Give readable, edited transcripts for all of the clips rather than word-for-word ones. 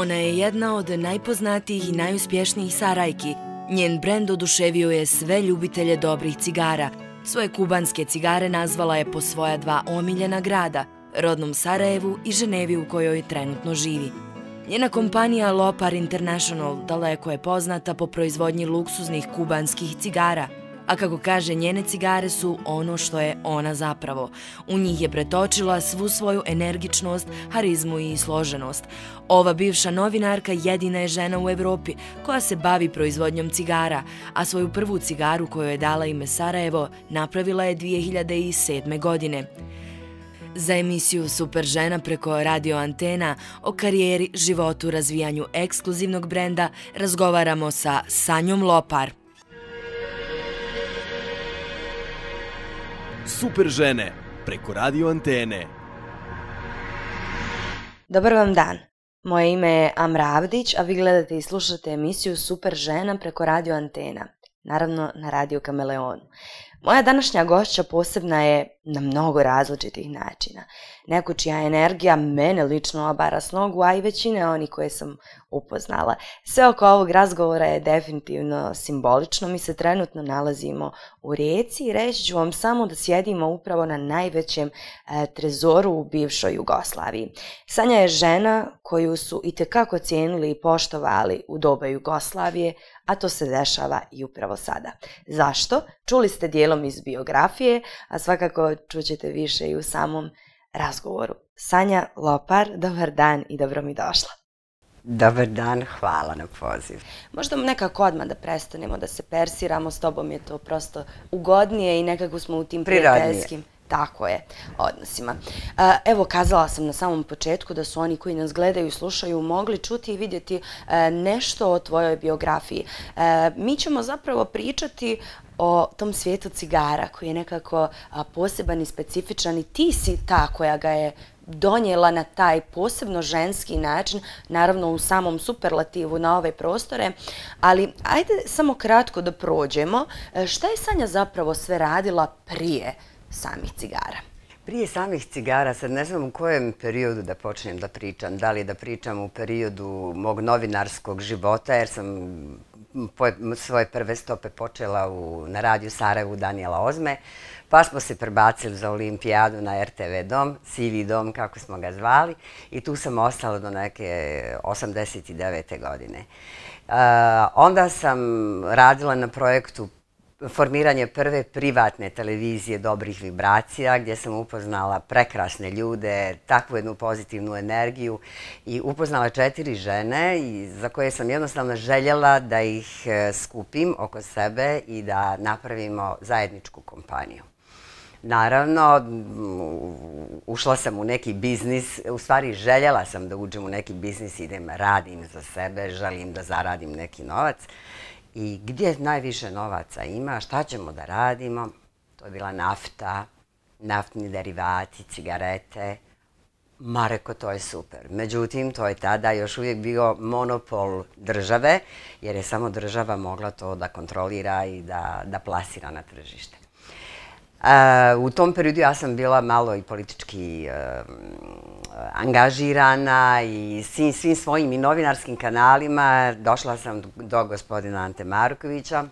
Ona je jedna od najpoznatijih i najuspješnijih Sarajki. Njen brend oduševio je sve ljubitelje dobrih cigara. Svoje kubanske cigare nazvala je po svoja dva omiljena grada, rodnom Sarajevu i Ženevi u kojoj trenutno živi. Njena kompanija Lopar International daleko je poznata po proizvodnji luksuznih kubanskih cigara, a kako kaže, njene cigare su ono što je ona zapravo. U njih je pretočila svu svoju energičnost, harizmu i složenost. Ova bivša novinarka jedina je žena u Evropi koja se bavi proizvodnjom cigara, a svoju prvu cigaru koju je dala ime Sarajevo napravila je 2007. godine. Za emisiju Super žena preko Radio Antena o karijeri, životu, razvijanju ekskluzivnog brenda razgovaramo sa Sanjom Lopar. Super žene preko Radio Antene. Dobar vam dan. Moje ime je Amra Avdić, a vi gledate i slušate emisiju Super žena preko Radio Antena. Naravno na Radio Kameleonu. Moja današnja gošća posebna je na mnogo različitih načina. Neko čija energija mene lično obara s nogu, a i većine oni koje sam upoznala. Sve oko ovog razgovora je definitivno simbolično. Mi se trenutno nalazimo u Rijeci i reći ću vam samo da sjedimo upravo na najvećem trezoru u bivšoj Jugoslaviji. Sanja je žena koju su itekako cijenili i poštovali u doba Jugoslavije, a to se dešava i upravo sada. Zašto? Čuli ste dijelom iz biografije, a svakako čućete više i u samom razgovoru. Sanja Lopar, dobar dan i dobro mi došla. Dobar dan, hvala na poziv. Možda nekako odmah da prestanemo da se persiramo, s tobom je to prosto ugodnije i nekako smo u tim prijateljskim. Tako je, odnosima. Evo, kazala sam na samom početku da su oni koji nas gledaju i slušaju mogli čuti i vidjeti nešto o tvojoj biografiji. Mi ćemo zapravo pričati o tom svijetu cigara koji je nekako poseban i specifičan i ti si ta koja ga je donijela na taj posebno ženski način, naravno u samom superlativu na ove prostore, ali ajde samo kratko da prođemo. Šta je Sanja zapravo sve radila prije samih cigara? Prije samih cigara, sad ne znam u kojem periodu da počnem da pričam. Da li da pričam u periodu mog novinarskog života, jer sam svoje prve stope počela na radiju Sarajevu Danijela Ozme, pa smo se prebacili za olimpijadu na RTV dom, Sivi dom, kako smo ga zvali, i tu sam ostala do neke 89. godine. Onda sam radila na projektu formiranje prve privatne televizije Dobrih vibracija, gdje sam upoznala prekrasne ljude, takvu jednu pozitivnu energiju i upoznala 4 žene za koje sam jednostavno željela da ih skupim oko sebe i da napravimo zajedničku kompaniju. Naravno, ušla sam u neki biznis, u stvari željela sam da uđem u neki biznis, idem, radim za sebe, želim da zaradim neki novac. I gdje najviše novaca ima, šta ćemo da radimo? To je bila nafta, naftni derivati, cigarete. Ma reko, to je super. Međutim, to je tada još uvijek bio monopol države, jer je samo država mogla to da kontrolira i da plasira na tržište. U tom periodu ja sam bila malo i politički angažirana i svim svojim i novinarskim kanalima. Došla sam do gospodina Ante Markovića,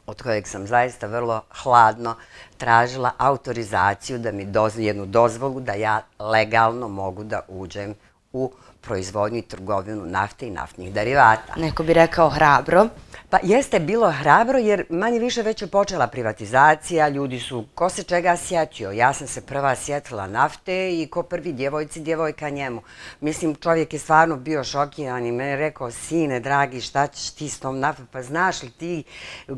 od kojeg sam zaista vrlo hladno tražila autorizaciju da mi jednu dozvolu da ja legalno mogu da uđem u proizvodnju i trgovinu nafte i naftnih derivata. Neko bi rekao hrabro. Pa jeste bilo hrabro jer manje više već je počela privatizacija, ljudi su ko se čega sjetio. Ja sam se prva sjetila nafte i ko prvi djevojci, djevojka njemu. Mislim, čovjek je stvarno bio šokiran i mene rekao, sine, dragi, šta ćeš ti s tom naftom? Pa znaš li ti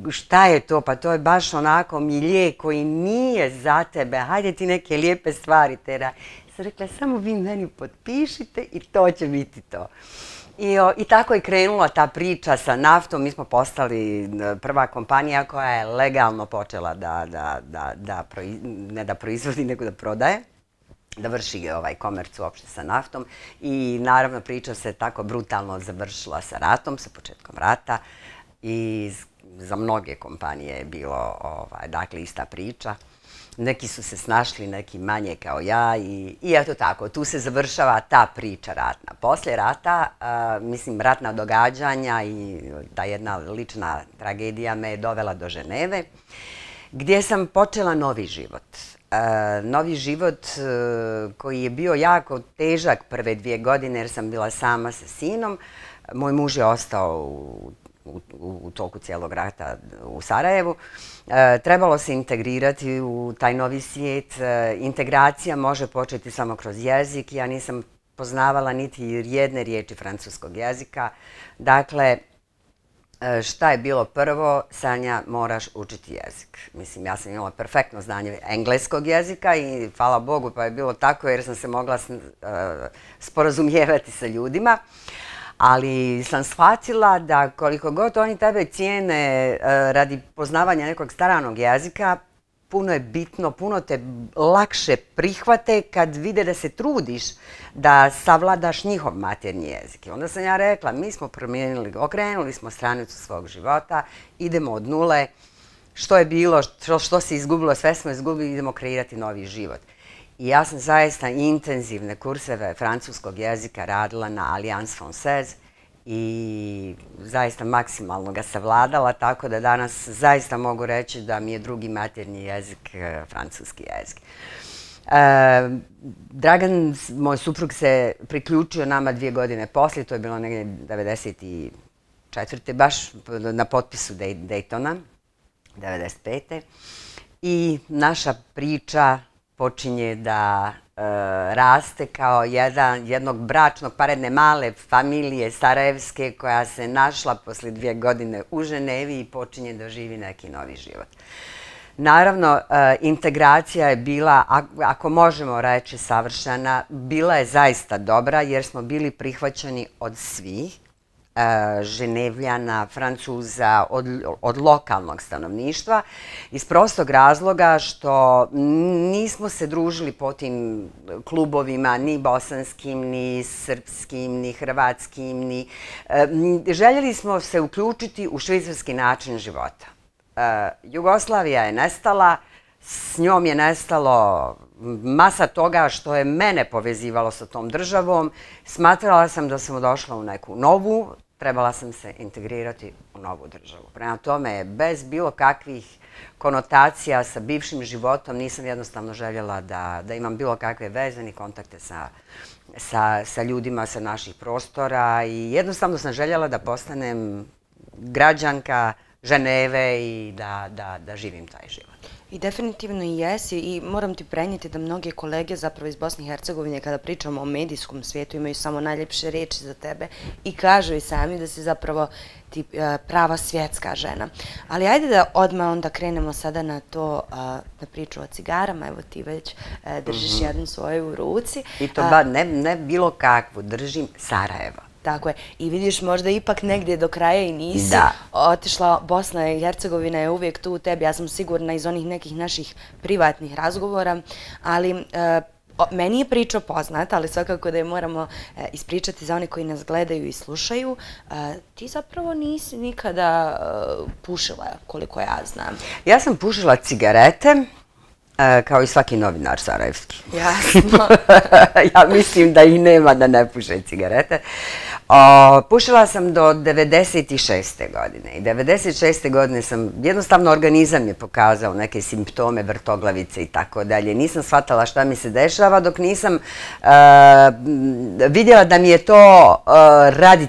šta je to? Pa to je baš onako milje koji nije za tebe. Hajde ti neke lijepe stvari tera. Sam rekla, samo vi meni potpišite i to će biti to. I tako je krenula ta priča sa naftom. Mi smo postali prva kompanija koja je legalno počela ne da proizvodi, nego da prodaje, da vrši komerc uopšte sa naftom. I naravno priča se tako brutalno završila sa ratom, sa početkom rata. I za mnoge kompanije je bilo dakle ista priča. Neki su se snašli, neki manje kao ja i eto tako, tu se završava ta priča ratna. Poslije rata, mislim, ratna događanja i ta jedna lična tragedija me je dovela do Ženeve, gdje sam počela novi život. Novi život koji je bio jako težak prve 2 godine jer sam bila sama sa sinom. Moj muž je ostao u toku cijelog rata u Sarajevu. Trebalo se integrirati u taj novi svijet. Integracija može početi samo kroz jezik. Ja nisam poznavala niti jedne riječi francuskog jezika. Dakle, šta je bilo prvo? Sanja, moraš učiti jezik. Mislim, ja sam imala perfektno znanje engleskog jezika i hvala Bogu pa je bilo tako jer sam se mogla sporazumijevati sa ljudima. Ali sam shvatila da koliko god oni tebe cijene radi poznavanja nekog stranog jezika, puno je bitno, puno te lakše prihvate kad vide da se trudiš da savladaš njihov maternji jezik. Onda sam ja rekla, mi smo promijenili, okrenuli smo stranicu svog života, idemo od nule, što je bilo, što se izgubilo, sve smo izgubili, idemo kreirati novi život. I ja sam zaista intenzivne kurseve francuskog jezika radila na Alliance Française i zaista maksimalno ga savladala, tako da danas zaista mogu reći da mi je drugi maternji jezik francuski jezik. Dragan, moj suprug, se priključio nama 2 godine poslije, to je bilo negdje 94. baš na potpisu Daytona, 95. I naša priča počinje da raste kao jednog bračnog, jedne male familije sarajevske koja se našla poslije 2 godine u Ženevi i počinje da živi neki novi život. Naravno, integracija je bila, ako možemo reći savršena, bila je zaista dobra jer smo bili prihvaćeni od svih, Ženevljana, Francuza, od lokalnog stanovništva, iz prostog razloga što nismo se družili po tim klubovima, ni bosanskim, ni srpskim, ni hrvatskim, željeli smo se uključiti u švicarski način života. Jugoslavija je nestala, s njom je nestalo masa toga što je mene povezivalo sa tom državom. Smatrala sam da sam došla u neku novu, trebala sam se integrirati u novu državu. Prema tome, bez bilo kakvih konotacija sa bivšim životom, nisam jednostavno željela da imam bilo kakve veze ni kontakte sa ljudima sa naših prostora i jednostavno sam željela da postanem građanka Ženeve i da živim taj život. I definitivno i jesi i moram ti prenijeti da mnoge kolege zapravo iz Bosne i Hercegovine kada pričamo o medijskom svijetu imaju samo najljepše riječi za tebe i kažu i sami da si zapravo ti prava svjetska žena. Ali ajde da odmah onda krenemo sada na to, na priču o cigarama. Evo ti već držiš jednu svoju u ruci. I to ne bilo kakvu, držim Sarajevo. Tako je. I vidiš, možda ipak negdje do kraja i nisi otišla. Bosna i Hercegovina je uvijek tu u tebi. Ja sam sigurna iz onih nekih naših privatnih razgovora, ali meni je priča poznata, ali svakako da je moramo ispričati za one koji nas gledaju i slušaju. Ti zapravo nisi nikada pušila, koliko ja znam. Ja sam pušila cigarete, kao i svaki novinar sarajevski. Jasno. Ja mislim da ih nema da ne puše cigarete. Pušila sam do 96. godine i 96. godine sam, jednostavno organizam je pokazao neke simptome vrtoglavice i tako dalje. Nisam shvatala šta mi se dešava dok nisam vidjela da mi je to radi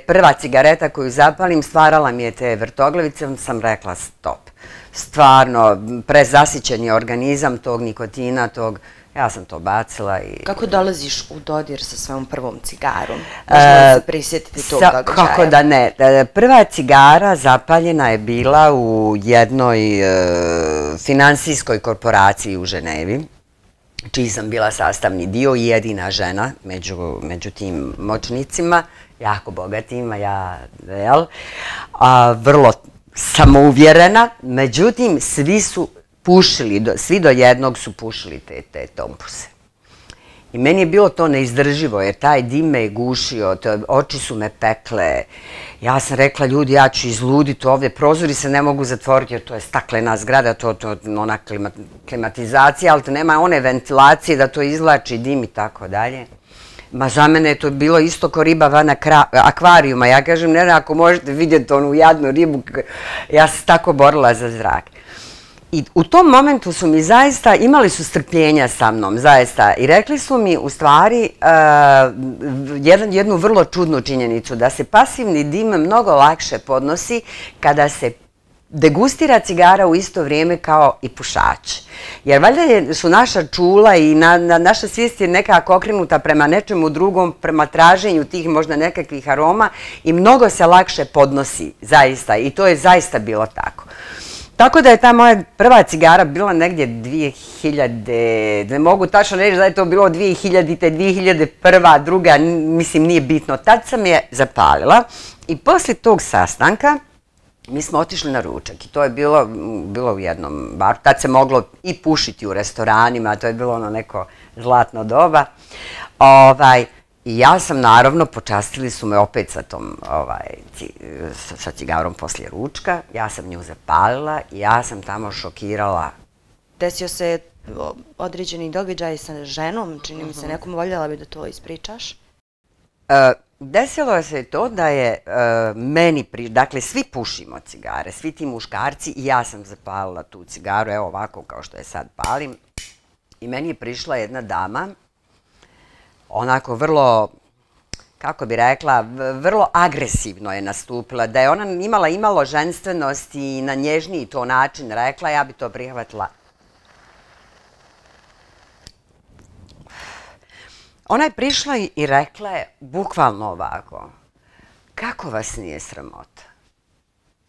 prva cigareta koju zapalim, stvarala mi je te vrtoglavice, onda sam rekla stop. Stvarno, prezasićen je organizam tog nikotina, ja sam to bacila i... Kako dolaziš u dodir sa svojom prvom cigarom? Možemo se prisjetiti tog događaja? Kako da ne. Prva cigara zapaljena je bila u jednoj finansijskoj korporaciji u Ženevi, čiji sam bila sastavni dio i jedina žena među tim moćnicima, jako bogatima, vrlo samouvjerena, međutim, svi su pušili, svi do jednog su pušili te tompuse. I meni je bilo to neizdrživo, jer taj dim me je gušio, oči su me pekle. Ja sam rekla, ljudi, ja ću izluditi ovdje, prozori se ne mogu zatvoriti, jer to je staklena zgrada, to je ona klimatizacija, ali to nema one ventilacije da to izvlači dim i tako dalje. Ma za mene je to bilo isto ko riba van akvarijuma. Ja kažem, ne, ako možete vidjeti onu jadnu ribu, ja sam tako borila za zrak. I u tom momentu su mi zaista, imali su strpljenja sa mnom, zaista, i rekli su mi u stvari jednu vrlo čudnu činjenicu, da se pasivni dim mnogo lakše podnosi kada se degustira cigara u isto vrijeme kao i pušač. Jer valjda su naša čula i naša svijest je nekako okrenuta prema nečemu drugom, prema traženju tih možda nekakvih aroma i mnogo se lakše podnosi, zaista, i to je zaista bilo tako. Tako da je ta moja prva cigara bila negdje 2000, ne mogu tačno reći da je to bilo 2000-te, 2001, druga, mislim nije bitno. Tad sam je zapalila i poslije tog sastanka mi smo otišli na ručak i to je bilo u jednom baru. Tad se moglo i pušiti u restoranima, to je bilo ono neko zlatno doba. I ja sam, naravno, počastili su me opet sa cigarom poslije ručka. Ja sam nju zapalila i ja sam tamo šokirala. Desio se određeni događaj sa ženom, čini mi se, nekom voljela bi da to ispričaš? Desilo se to da je meni, dakle, svi pušimo cigare, svi ti muškarci, i ja sam zapalila tu cigaru, evo ovako kao što je sad palim. I meni je prišla jedna dama, onako vrlo, kako bi rekla, vrlo agresivno je nastupila. Da je ona imala imalo ženstvenosti i na nježniji to način rekla, ja bi to prihvatila. Ona je prišla i rekla je bukvalno ovako, kako vas nije sramota?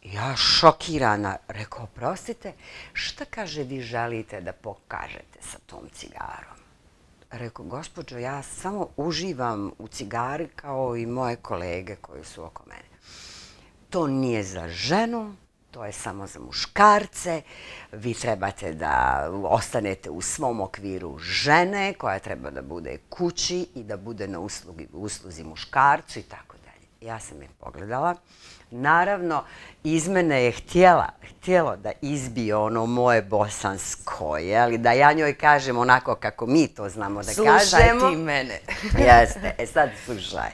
Ja šokirana, rekao, oprostite, šta kaže vi želite da pokažete sa tom cigarom? Rekao, gospođo, ja samo uživam u cigari kao i moje kolege koji su oko mene. To nije za ženu, to je samo za muškarce. Vi trebate da ostanete u svom okviru žene koja treba da bude kući i da bude na usluzi muškarcu i tako dalje. Ja sam je pogledala. Naravno, iz mene je htjelo da izbije ono moje bosansko, da ja njoj kažem onako kako mi to znamo da kažemo. Slušaj ti mene. Jeste, sad slušaj.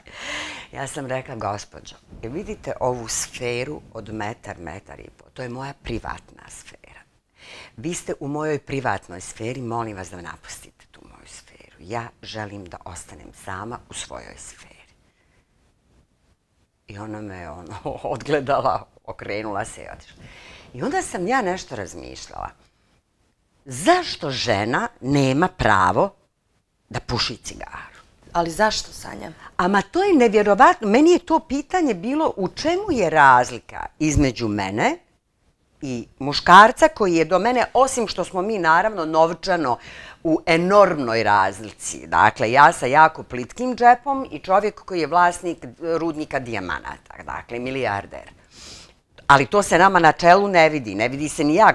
Ja sam rekla, gospođo, vidite ovu sferu od metar i pol, to je moja privatna sfera. Vi ste u mojoj privatnoj sferi, molim vas da napustite tu moju sferu. Ja želim da ostanem sama u svojoj sferi. I ona me odgledala, okrenula se i otišla. I onda sam ja nešto razmišljala. Zašto žena nema pravo da puši cigaru? Ali zašto, Sanja? Ama to je nevjerovatno. Meni je to pitanje bilo u čemu je razlika između mene i muškarca koji je do mene, osim što smo mi naravno novčano u enormnoj razlici. Dakle, ja sa jako plitkim džepom i čovjek koji je vlasnik rudnika dijamanata, dakle, milijarder. Ali to se nama na čelu ne vidi. Ne vidi se ni ja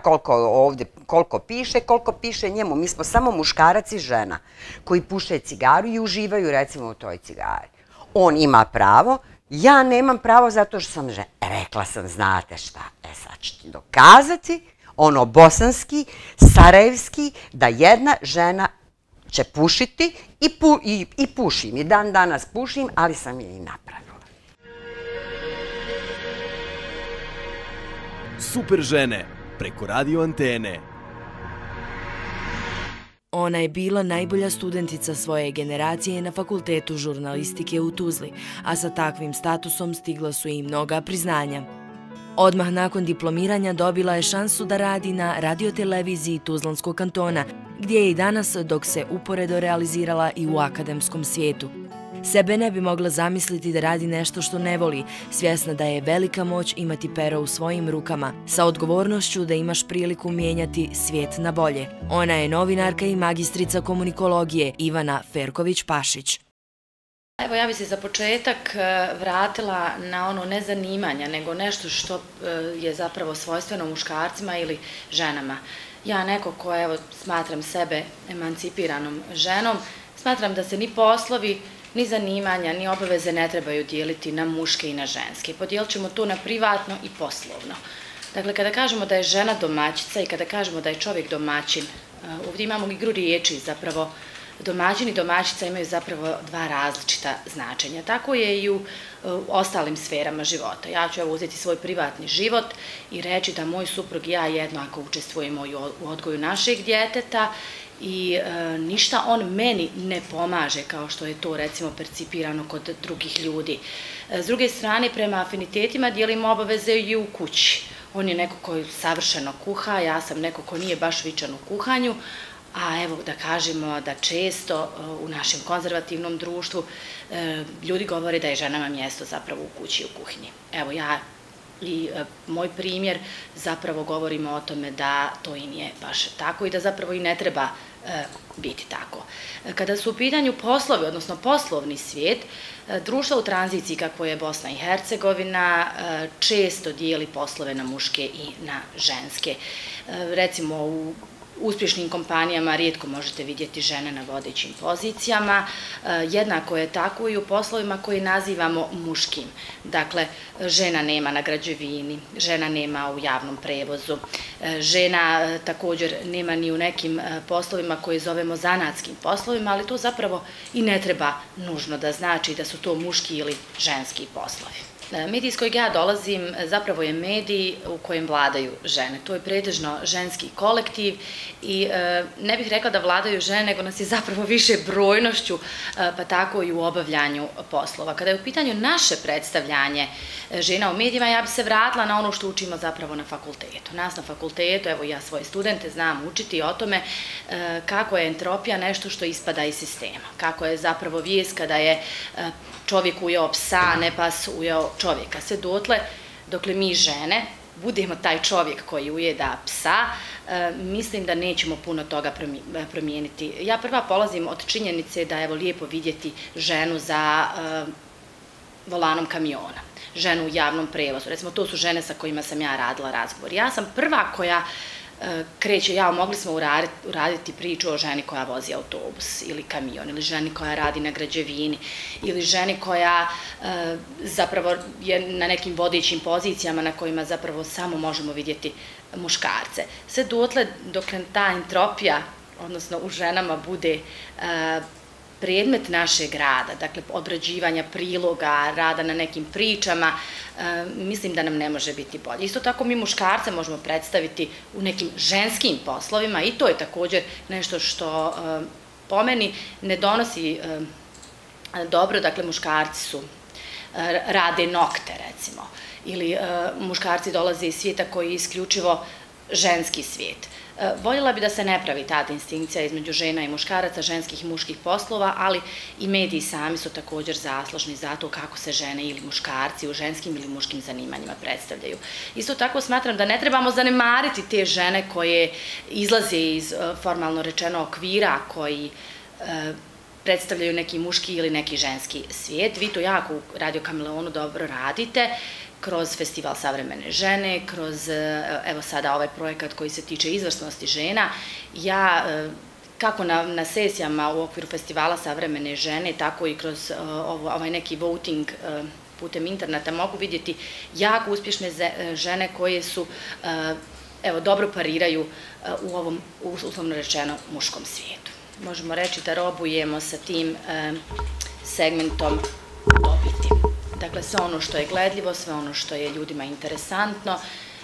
koliko piše njemu. Mi smo samo muškarac i žena koji puše cigaru i uživaju recimo u toj cigari. On ima pravo, ja nemam pravo zato što sam žena. Rekla sam, znate šta, sad ću ti dokazati, ono bosanski, sarajevski, da jedna žena će pušiti i pušim. I dan danas pušim, ali sam je i napravila. Super žene, preko radio Antene. Ona je bila najbolja studentica svoje generacije na Fakultetu žurnalistike u Tuzli, a sa takvim statusom stigla su i mnoga priznanja. Odmah nakon diplomiranja dobila je šansu da radi na radioteleviziji Tuzlanskog kantona, gdje je i danas dok se uporedo realizirala i u akademskom svijetu. Sebe ne bi mogla zamisliti da radi nešto što ne voli, svjesna da je velika moć imati pero u svojim rukama, sa odgovornošću da imaš priliku mijenjati svijet na bolje. Ona je novinarka i magistrica komunikologije Ivana Ferković-Pašić. Evo, ja bi se za početak vratila na ono ne zanimanja, nego nešto što je zapravo svojstveno muškarcima ili ženama. Ja neko ko, evo, smatram sebe emancipiranom ženom, Smatram da se ni poslovi, ni zanimanja, ni obaveze ne trebaju dijeliti na muške i na ženske. Podijelit ćemo to na privatno i poslovno. Dakle, kada kažemo da je žena domaćica i kada kažemo da je čovjek domaćin, ovdje imamo igru riječi, zapravo domaćin i domaćica imaju zapravo dva različita značenja. Tako je i u ostalim sferama života. Ja ću uzeti svoj privatni život i reći da moj suprug i ja jednako učestvujemo u odgoju našeg djeteta i ništa on meni ne pomaže kao što je to recimo percipirano kod drugih ljudi. S druge strane, prema afinitetima dijelimo obaveze i u kući. On je neko koji savršeno kuha, ja sam neko ko nije baš vičan u kuhanju, a evo da kažemo da često u našem konzervativnom društvu ljudi govore da je ženama mjesto zapravo u kući i u kuhinji. Evo ja i moj primjer zapravo govorimo o tome da to i nije baš tako i da zapravo i ne treba biti tako. Kada su u pitanju poslovi, odnosno poslovni svijet, društva u tranziciji kako je Bosna i Hercegovina često dijeli poslove na muške i na ženske. Recimo u uspješnim kompanijama rijetko možete vidjeti žene na vodećim pozicijama, jednako je tako i u poslovima koji nazivamo muškim. Dakle, žena nema na građevini, žena nema u javnom prevozu, žena također nema ni u nekim poslovima koje zovemo zanatskim poslovima, ali to zapravo i ne treba nužno da znači da su to muški ili ženski poslovi. Medij iz kojeg ja dolazim zapravo je medij u kojem vladaju žene. To je pretežno ženski kolektiv i ne bih rekla da vladaju žene, nego nas je zapravo više brojnošću, pa tako i u obavljanju poslova. Kada je u pitanju naše predstavljanje žena u medijima, ja bih se vratila na ono što učimo zapravo na fakultetu. Nas na fakultetu, evo ja svoje studente znam učiti o tome kako je entropija nešto što ispada iz sistema. Kako je zapravo vijest kada je čovjek ujeo psa, ne pas ujeo čovjeka. Sve dotle, dokle mi žene budemo taj čovjek koji ujeda psa, mislim da nećemo puno toga promijeniti. Ja prva polazim od činjenice da je lijepo vidjeti ženu za volanom kamiona, ženu u javnom prevozu. Recimo, to su žene sa kojima sam ja radila razgovor. Ja sam prva koja kreće, mogli smo uraditi priču o ženi koja vozi autobus ili kamion, ili ženi koja radi na građevini, ili ženi koja zapravo je na nekim vodećim pozicijama na kojima zapravo samo možemo vidjeti muškarce. Sve dotle dok ta entropija, odnosno u ženama, bude predmet našeg rada, dakle obrađivanja priloga, rada na nekim pričama, mislim da nam ne može biti bolje. Isto tako mi muškarce možemo predstaviti u nekim ženskim poslovima i to je također nešto što po meni ne donosi dobro, dakle muškarci rade nokte recimo, ili muškarci dolaze iz svijeta koji je isključivo ženski svijet. Voljela bi da se ne pravi ta distinkcija između žena i muškaraca, ženskih i muških poslova, ali i mediji sami su također zaslužni za to kako se žene ili muškarci u ženskim ili muškim zanimanjima predstavljaju. Isto tako smatram da ne trebamo zanemariti te žene koje izlaze iz formalno rečeno okvira koji predstavljaju neki muški ili neki ženski svijet. Vi to jako u Radio Kameleonu dobro radite, kroz Festival savremene žene, kroz, evo sada ovaj projekat koji se tiče izvrsnosti žena. Ja, kako na sesijama u okviru Festivala savremene žene, tako i kroz ovaj neki voting putem interneta mogu vidjeti jako uspješne žene koje su, evo, dobro pariraju u ovom, uslovno rečeno, muškom svijetu. Možemo reći da robujemo sa tim segmentom dobiti. Dakle, sve ono što je gledljivo, sve ono što je ljudima interesantno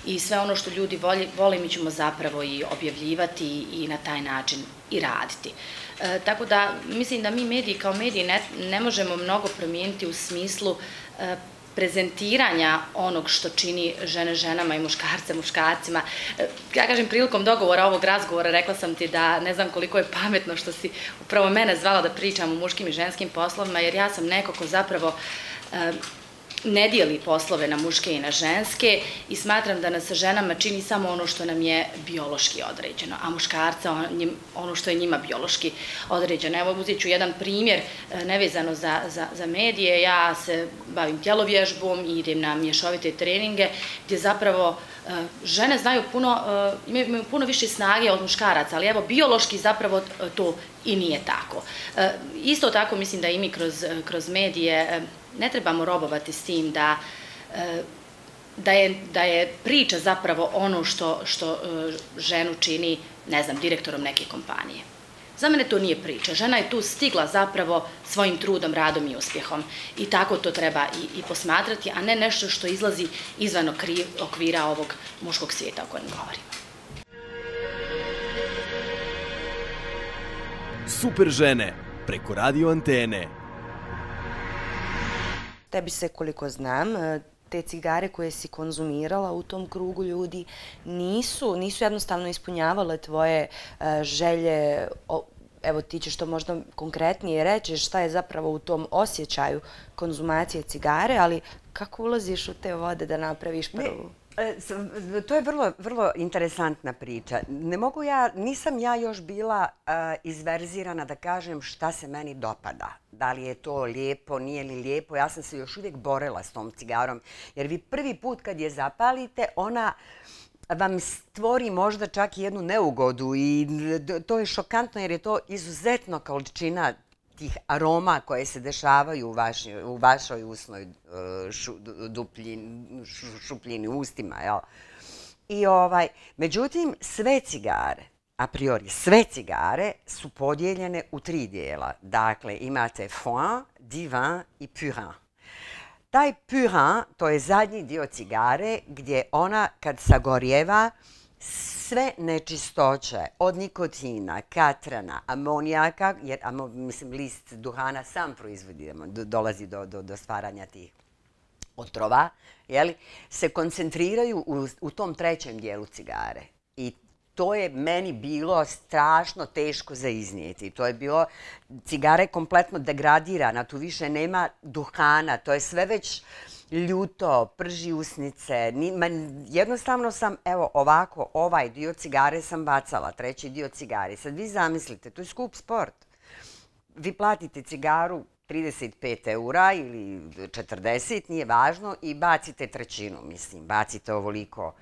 i sve ono što ljudi vole, mi ćemo zapravo i objavljivati i na taj način i raditi. Tako da, mislim da mi mediji kao mediji ne možemo mnogo promijeniti u smislu prezentiranja onog što čini žene ženama i muškarce muškarcima. Ja kažem, prilikom dogovora ovog razgovora rekla sam ti da ne znam koliko je pametno što si upravo mene zvala da pričam o muškim i ženskim poslovima, jer ja sam neko ko zapravo ne dijeli poslove na muške i na ženske i smatram da nas ženama čini samo ono što nam je biološki određeno, a muškarca ono što je njima biološki određeno. Evo, uzet ću jedan primjer nevezano za medije. Ja se bavim tjelovježbom i idem na mješovite treninge gdje zapravo žene imaju puno više snage od muškaraca, ali evo, biološki zapravo to i nije tako. Isto tako mislim da i mi kroz medije ne trebamo robovati s tim da je priča zapravo ono što ženu čini, ne znam, direktorom neke kompanije. Za mene to nije priča. Žena je tu stigla zapravo svojim trudom, radom i uspjehom. I tako to treba i posmatrati, a ne nešto što izlazi izvan okvira ovog muškog svijeta o kojem govorimo. Super žene preko radio antene. Tebi se, koliko znam, te cigare koje si konzumirala u tom krugu ljudi nisu jednostavno ispunjavale tvoje želje. Evo, ti ćeš to možda konkretnije reći šta je zapravo u tom osjećaju konzumacije cigare, ali kako ulaziš u te vode da napraviš prvu? To je vrlo interesantna priča. Nisam ja još bila izverzirana da kažem šta se meni dopada. Da li je to lijepo, nije li lijepo. Ja sam se još uvijek borila s tom cigarom. Jer vi prvi put kad je zapalite, ona vam stvori možda čak i jednu neugodu. I to je šokantno jer je to izuzetno količina tih aroma koje se dešavaju u vašoj usnoj šupljini, ustima. Međutim, sve cigare, a priori sve cigare, su podijeljene u 3 dijela. Dakle, imate foin, divin i purin. Taj purin, to je zadnji dio cigare gdje ona kad sagorjeva, sve nečistoće od nikotina, katrana, amonijaka, jer list duhana sam proizvodi, dolazi do stvaranja tih otrova, se koncentriraju u tom 3. dijelu cigare. I to je meni bilo strašno teško za iznijeti. To je bilo, cigara je kompletno degradirana, tu više nema duhana, to je sve već ljuto, prži usnice. Jednostavno sam, evo ovako, ovaj dio cigare sam bacala, 3. dio cigare. Sad vi zamislite, to je skup sport. Vi platite cigaru 35 € ili 40, nije važno, i bacite 1/3, bacite ovoliko.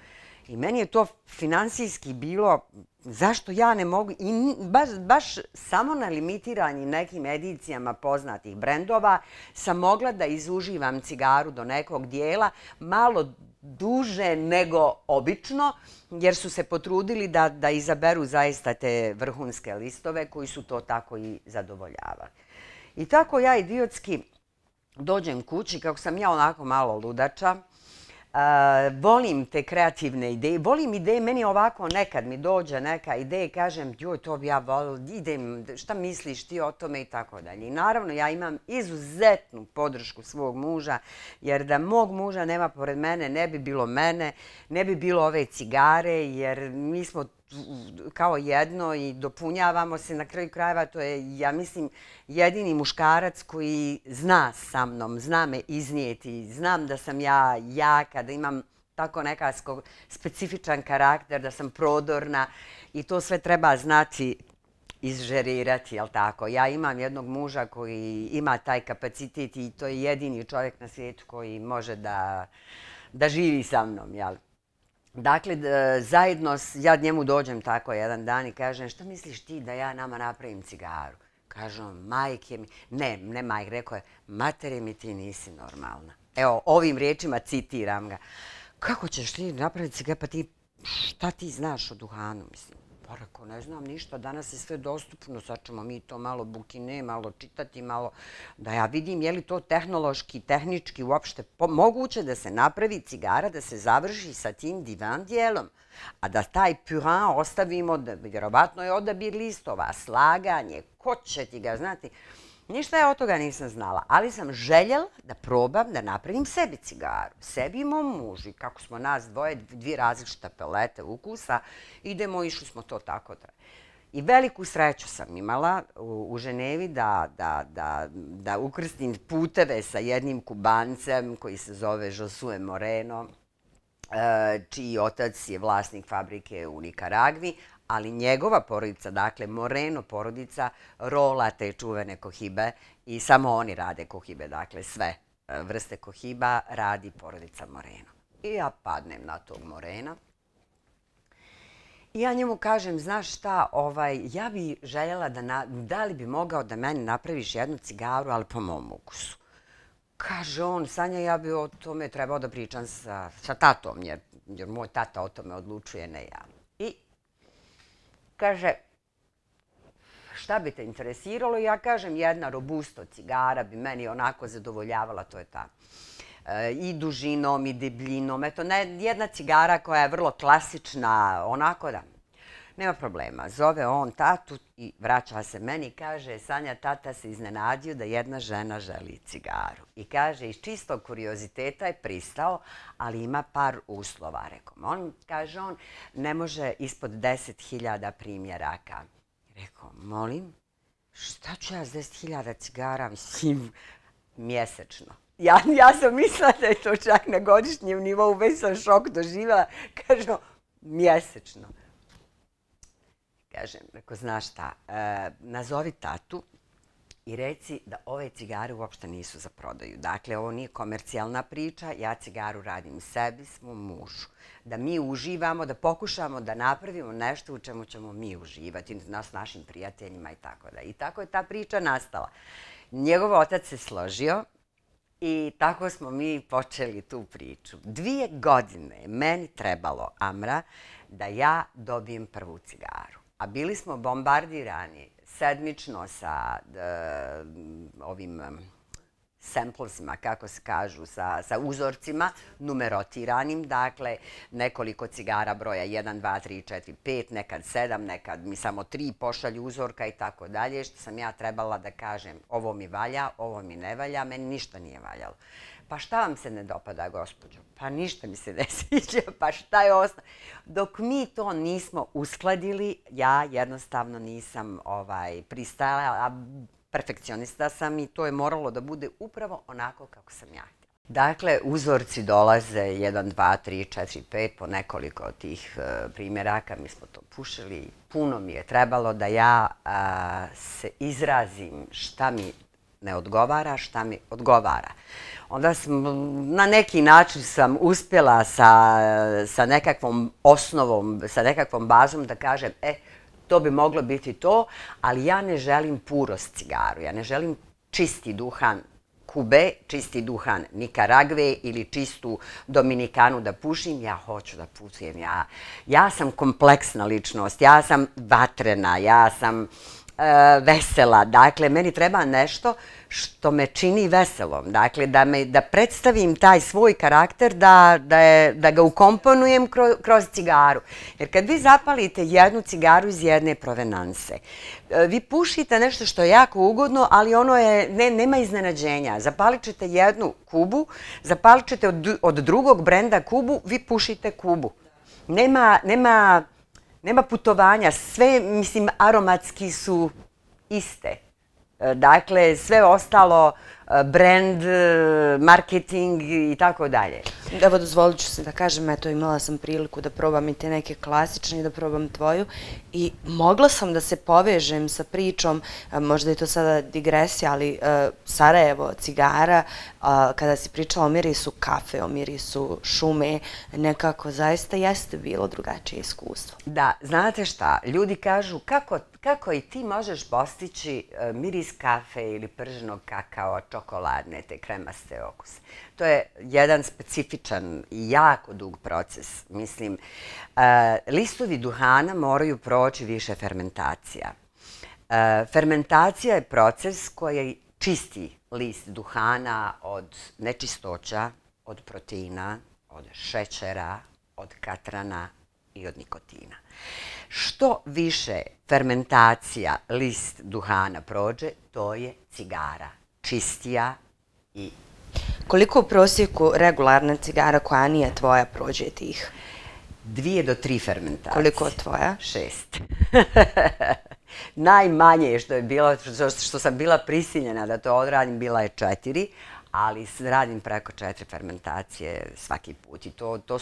I meni je to finansijski bilo, zašto ja ne mogu, i baš samo na limitiranim nekim edicijama poznatih brendova sam mogla da izuživam cigaru do nekog dijela malo duže nego obično, jer su se potrudili da izaberu zaista te vrhunske listove koji su to tako i zadovoljavali. I tako ja idiotski dođem kući, kako sam ja onako malo ludača, volim te kreativne ideje, volim ideje, meni ovako nekad mi dođe neka ideja i kažem, joj, to bi ja volila, idem, šta misliš ti o tome i tako dalje. I naravno, ja imam izuzetnu podršku svog muža, jer da mog muža nema pored mene, ne bi bilo mene, ne bi bilo ove cigare, jer mi smo kao jedno i dopunjavamo se. Na kraju krajeva, to je, ja mislim, jedini muškarac koji zna sa mnom, zna me iznijeti, znam da sam ja jaka, da imam tako nekako specifičan karakter, da sam prodorna i to sve treba znati izžerirati, jel tako? Ja imam jednog muža koji ima taj kapacitet i to je jedini čovjek na svijetu koji može da živi sa mnom, jel? Dakle, zajedno, ja njemu dođem tako jedan dan i kažem, šta misliš ti da ja nama napravim cigaru? Kažem, majke mi, ne majke, rekao je, matere mi, ti nisi normalna. Evo, ovim riječima citiram ga. Kako ćeš ti napraviti cigaru, pa ti, šta ti znaš o duhanu, mislim? Pa rekao, ne znam ništa, danas je sve dostupno, sad ćemo mi to malo bukine, malo čitati, malo da ja vidim je li to tehnološki, tehnički uopšte moguće da se napravi cigara, da se završi sa tim divan dijelom, a da taj purin ostavimo, vjerovatno je odabir listova, slaganje, ko će ti ga znati. Ništa ja od toga nisam znala, ali sam željela da probam da napravim sebi cigaru. Sebi i mom mužu. I kako smo nas dvoje, 2 različite palete ukusa, idemo, išli smo to tako. I veliku sreću sam imala u Ženevi da ukrstim puteve sa jednim Kubancem koji se zove Josue Moreno, čiji otac je vlasnik fabrike u Nikaragvi, ali njegova porodica, dakle Moreno porodica, rola te čuvene kohibe i samo oni rade kohibe, dakle sve vrste kohiba radi porodica Moreno. I ja padnem na tog Morena. I ja njemu kažem, znaš šta, ja bi željela da li bi mogao da meni napraviš jednu cigaru, ali po mom ukusu. Kaže on, Sanja, ja bi o tome trebao da pričam sa tatom, jer moj tata o tome odlučuje, ne ja. I kaže, šta bi te interesiralo? Ja kažem, jedna Robusto cigara bi meni onako zadovoljavala, to je ta. I dužinom, i debljinom. Eto, jedna cigara koja je vrlo klasična, onako da. Nema problema. Zove on tatu i vraća se meni i kaže, Sanja, tata se iznenadio da jedna žena želi cigaru. I kaže, iz čistog kurioziteta je pristao, ali ima par uslova. Rekao, kaže on, ne može ispod 10.000 primjeraka. Rekao, molim, šta ću ja s 10.000 cigara, mislim, mjesečno. Ja sam mislila da je to čak na godišnjem nivou, već sam šok doživjela. Kažem, mjesečno. Kažem, rekao, znaš šta, nazovi tatu i reci da ove cigare uopšte nisu za prodaju. Dakle, ovo nije komercijalna priča, ja cigaru radim sebi, svom mužu. Da mi uživamo, da pokušamo da napravimo nešto u čemu ćemo mi uživati, s našim prijateljima i tako da. I tako je ta priča nastala. Njegov otac se složio. I tako smo mi počeli tu priču. 2 godine meni trebalo, Amra, da ja dobijem prvu cigaru. A bili smo bombardirani sedmično sa ovim samplesima, kako se kažu, sa uzorcima numerotiranim. Dakle, nekoliko cigara broja 1, 2, 3, 4, 5, nekad 7, nekad mi samo 3 pošalju uzorka i tako dalje, što sam ja trebala da kažem ovo mi valja, ovo mi ne valja, meni ništa nije valjalo. Pa šta vam se ne dopada, gospođo? Pa ništa mi se ne sviđa, pa šta je osnovno? Dok mi to nismo uskladili, ja jednostavno nisam pristajala, a perfekcionista sam i to je moralo da bude upravo onako kako sam ja htjela. Dakle, uzorci dolaze 1, 2, 3, 4, 5, po nekoliko od tih primjeraka. Mi smo to pušili. Puno mi je trebalo da ja se izrazim šta mi ne odgovara, šta mi odgovara. Onda na neki način sam uspjela sa nekakvom osnovom, sa nekakvom bazom da kažem, to bi moglo biti to, ali ja ne želim purost cigaru, ja ne želim čisti duhan Kube, čisti duhan Nikaragve ili čistu Dominikanu da pušim, ja hoću da pušim. Ja sam kompleksna ličnost, ja sam vatrena, ja sam vesela. Dakle, meni treba nešto što me čini veselom. Dakle, da predstavim taj svoj karakter, da ga ukomponujem kroz cigaru. Jer kad vi zapalite jednu cigaru iz jedne provenanse, vi pušite nešto što je jako ugodno, ali ono je, nema iznenađenja. Zapalit ćete jednu Kubu, zapalit ćete od drugog brenda Kubu, vi pušite Kubu. Nema putovanja, sve, mislim, aromatski su iste. Dakle, sve ostalo, brand, marketing i tako dalje. Evo, dozvolit ću se da kažem, eto, imala sam priliku da probam i te neke klasične i da probam tvoju i mogla sam da se povežem sa pričom, možda je to sada digresija, ali Sarajevo, cigara, kada si pričala o mirisu kafe, o mirisu šume, nekako zaista jeste bilo drugačije iskustvo. Da, znate šta, ljudi kažu kako i ti možeš postići miris kafe ili prženog kakao, čokoladne, te kremaste okuse. To je jedan specifičan i jako dug proces. Mislim, listovi duhana moraju proći više fermentacija. Fermentacija je proces koji čisti list duhana od nečistoća, od proteina, od šećera, od katrana i od nikotina. Što više fermentacija list duhana prođe, to je cigara čistija i... Koliko u prosjeku regularna cigara koja nije tvoja prođe tih? 2 do 3 fermentacije. Koliko tvoja? 6. Najmanje što je bilo, što sam bila prisiljena da to odradim, bila je 4, ali radim preko 4 fermentacije svaki put. I to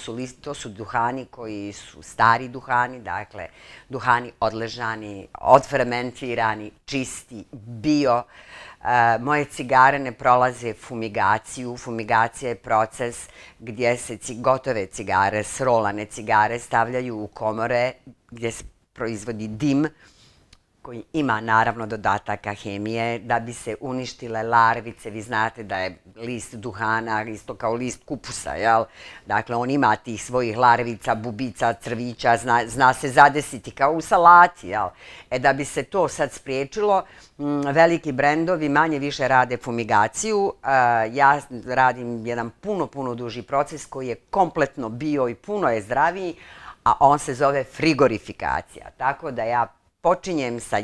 su duhani koji su stari duhani, dakle duhani odležani, odfermentirani, čisti, bio. Moje cigare ne prolaze fumigaciju. Fumigacija je proces gdje se gotove cigare, srolane cigare stavljaju u komore gdje se proizvodi dim koji ima naravno dodataka hemije da bi se uništile larvice. Vi znate da je list duhana isto kao list kupusa, jel? Dakle, on ima tih svojih larvica, bubica, crvića, zna se zadesiti kao u salati, jel? Da bi se to sad spriječilo, veliki brendovi manje više rade fumigaciju. Ja radim jedan puno duži proces koji je kompletno bio i puno je zdraviji, a on se zove frigorifikacija. Tako da ja počinjem sa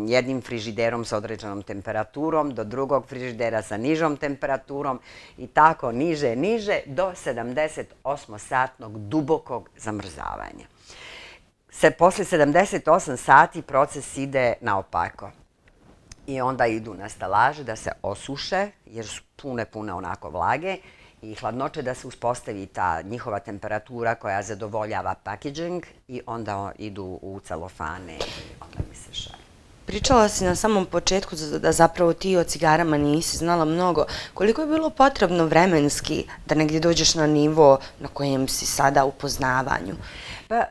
jednim frižiderom sa određenom temperaturom, do drugog frižidera sa nižom temperaturom i tako niže do 78-satnog dubokog zamrzavanja. Posle 78 sati proces ide naopako. I onda idu na stalaže da se osuše, jer su pune onako vlage, i hladnoće da se uspostavi ta njihova temperatura koja zadovoljava packaging i onda idu u celofane i onda mi se šalje. Pričala si na samom početku da zapravo ti o cigarama nisi znala mnogo. Koliko je bilo potrebno vremenski da negdje dođeš na nivo na kojem si sada u poznavanju? Pa,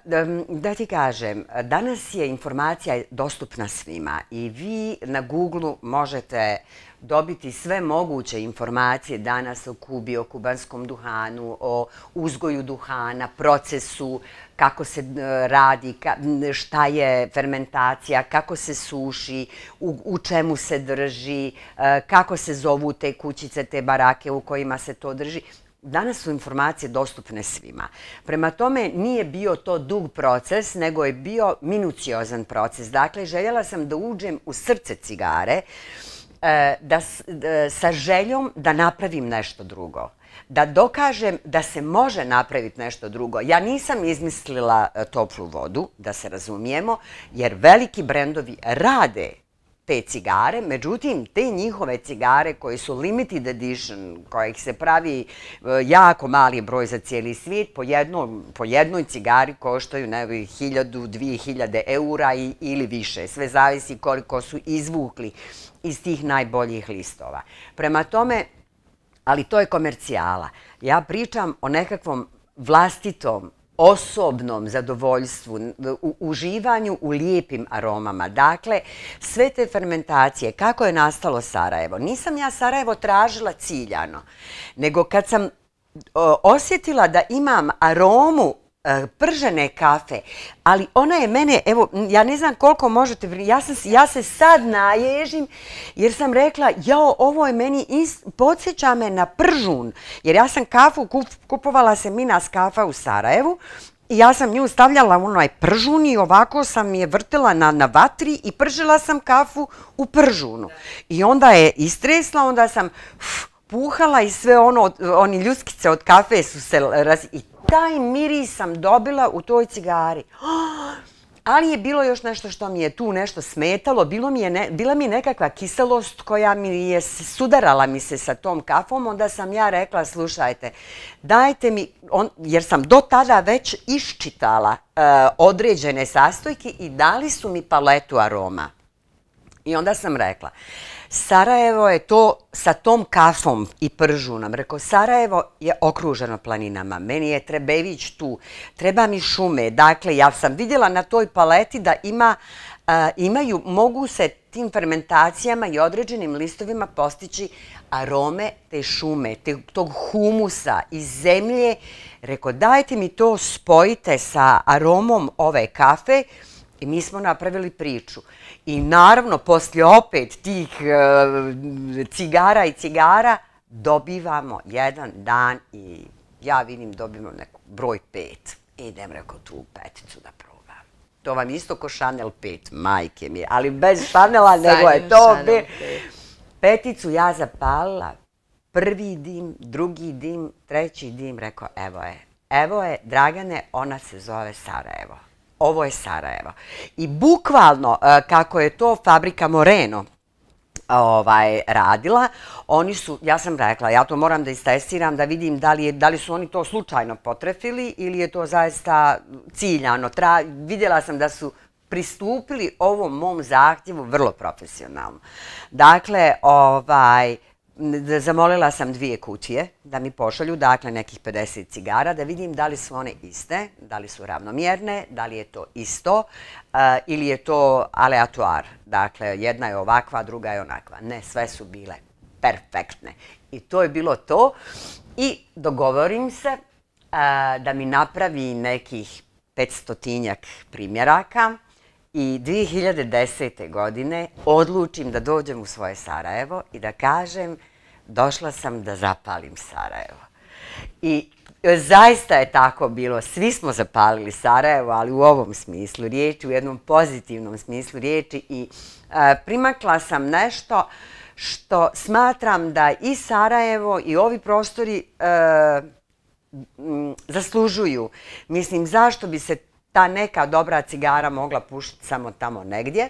da ti kažem, danas je informacija dostupna svima i vi na Google možete dobiti sve moguće informacije danas o Kubi, o kubanskom duhanu, o uzgoju duhana, procesu, kako se radi, šta je fermentacija, kako se suši, u čemu se drži, kako se zovu te kućice, te barake u kojima se to drži. Danas su informacije dostupne svima. Prema tome nije bio to dug proces, nego je bio minuciozan proces. Dakle, željela sam da uđem u srce cigare, sa željom da napravim nešto drugo. Da dokažem da se može napraviti nešto drugo. Ja nisam izmislila toplu vodu, da se razumijemo, jer veliki brendovi rade te cigare, međutim, te njihove cigare koje su limited edition, kojih se pravi jako mali broj za cijeli svijet, po jednoj cigari koštaju 1000-2000 eura ili više. Sve zavisi koliko su izvukli iz tih najboljih listova. Prema tome, ali to je komercijala. Ja pričam o nekakvom vlastitom, osobnom zadovoljstvu, uživanju u lijepim aromama. Dakle, sve te fermentacije, kako je nastalo Sarajevo? Nisam ja Sarajevo tražila ciljano, nego kad sam osjetila da imam aromu pržene kafe, ali ona je mene, evo, ja ne znam koliko možete, ja se sad naježim jer sam rekla, jao, ovo je meni, podsjeća me na pržun, jer ja sam kafu, kupovala se Minas kafa u Sarajevu i ja sam nju stavljala u onaj pržun i ovako sam je vrtila na vatri i pržila sam kafu u pržunu. I onda je istresla, onda sam puhala i sve oni ljuskice od kafe su se i taj miris sam dobila u toj cigari. Ali je bilo još nešto što mi je tu nešto smetalo. Bila mi je nekakva kiselost koja mi je sudarala mi se sa tom kafom. Onda sam ja rekla, slušajte, dajte mi, jer sam do tada već iščitala određene sastojke i dali su mi paletu aroma. I onda sam rekla, Sarajevo je to sa tom kafom i pržunom. Rekao, Sarajevo je okruženo planinama. Meni je Trebević tu. Treba mi šume. Dakle, ja sam vidjela na toj paleti da mogu se tim fermentacijama i određenim listovima postići arome te šume, tog humusa iz zemlje. Rekao, dajte mi to, spojite sa aromom ove kafe i mi smo napravili priču. I naravno, poslije opet tih cigara i cigara, dobivamo jedan dan i ja vidim dobivamo broj 5. Idem, rekao, tu peticu da probam. To vam isto ko Chanel 5, majke mi, ali bez Chanela nego je to. Peticu ja zapalila, prvi dim, drugi dim, treći dim, rekao, evo je, Dragane, ona se zove Sarajevo. ovo je Sarajevo. I bukvalno, kako je to fabrika Moreno radila, oni su, ja sam rekla, ja to moram da istestiram, da vidim da li su oni to slučajno potrefili ili je to zaista ciljano. Vidjela sam da su pristupili ovom mom zahtjevu vrlo profesionalno. Dakle, zamolila sam 2 kutije da mi pošalju, dakle nekih 50 cigara, da vidim da li su one iste, da li su ravnomjerne, da li je to isto ili je to aleatoar. Dakle, jedna je ovakva, druga je onakva. Ne, sve su bile perfektne. I to je bilo to. I dogovorim se da mi napravi nekih 500-tinjak primjeraka. I 2010. godine odlučim da dođem u svoje Sarajevo i da kažem došla sam da zapalim Sarajevo. I zaista je tako bilo. Svi smo zapalili Sarajevo, ali u ovom smislu riječi, u jednom pozitivnom smislu riječi. I primakla sam nešto što smatram da i Sarajevo i ovi prostori zaslužuju. Mislim, zašto bi se ta neka dobra cigara mogla pušiti samo tamo negdje,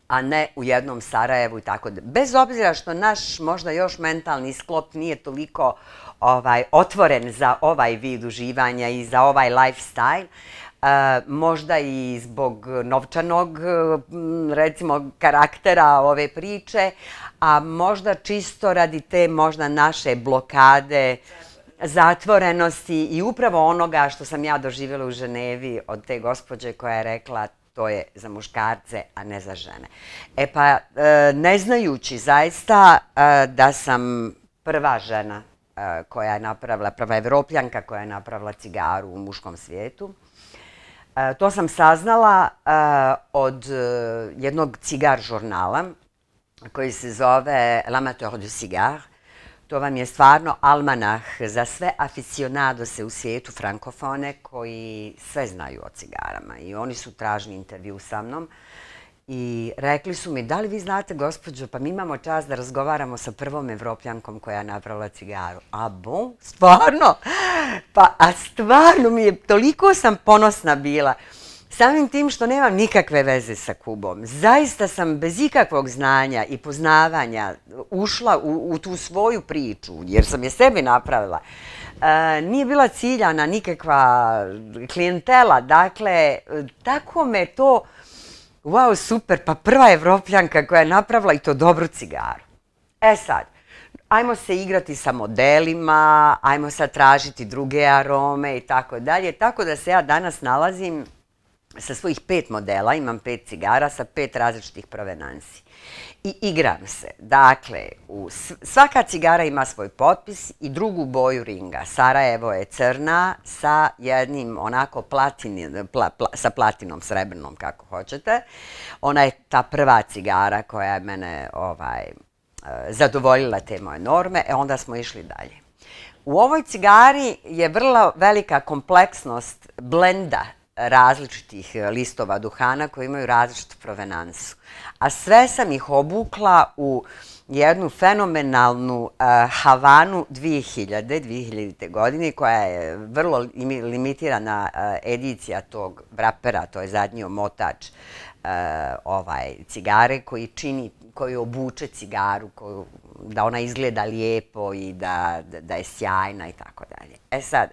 a ne u jednom Sarajevu i tako da. Bez obzira što naš možda još mentalni sklop nije toliko otvoren za ovaj vid uživanja i za ovaj lifestyle, možda i zbog novčanog, recimo, karaktera ove priče, a možda čisto radi te možda naše blokade, zatvorenosti i upravo onoga što sam ja doživjela u Ženevi od te gospođe koja je rekla to je za muškarce, a ne za žene. E pa, ne znajući zaista da sam prva žena koja je napravila, prva Evropljanka koja je napravila cigaru u muškom svijetu, to sam saznala od jednog cigar žurnala koji se zove L'Amateur du Cigare. To vam je stvarno almanah za sve aficionadose u svijetu frankofone koji sve znaju o cigarama. I oni su tražili intervju sa mnom i rekli su mi, da li vi znate, gospođo, pa mi imamo čast da razgovaramo sa prvom Evropljankom koja je napravila cigaru. A bon, stvarno? Pa, a stvarno mi je, toliko sam ponosna bila. Samim tim što nemam nikakve veze sa Kubom. Zaista sam bez ikakvog znanja i poznavanja ušla u tu svoju priču, jer sam je sebi napravila. Nije bila ciljana nikakva klijentela, dakle, tako me to, wow, super, pa prva Evropljanka koja je napravila i to dobru cigaru. E sad, ajmo se igrati sa modelima, ajmo sad tražiti druge arome i tako dalje, tako da se ja danas nalazim sa svojih 5 modela, imam 5 cigara sa 5 različitih provenansi. I igram se. Dakle, svaka cigara ima svoj potpis i drugu boju ringa. Sarajevo je crna sa jednim onako sa platinom, srebrnom, kako hoćete. Ona je ta prva cigara koja je mene zadovoljila te moje norme, onda smo išli dalje. U ovoj cigari je vrlo velika kompleksnost blenda različitih listova duhana koji imaju različitu provenansu. A sve sam ih obukla u jednu fenomenalnu Havanu 2000. godine koja je vrlo limitirana edicija tog vrapera, to je zadnji omotač cigare koji obuče cigaru, da ona izgleda lijepo i da je sjajna i tako dalje. E sad,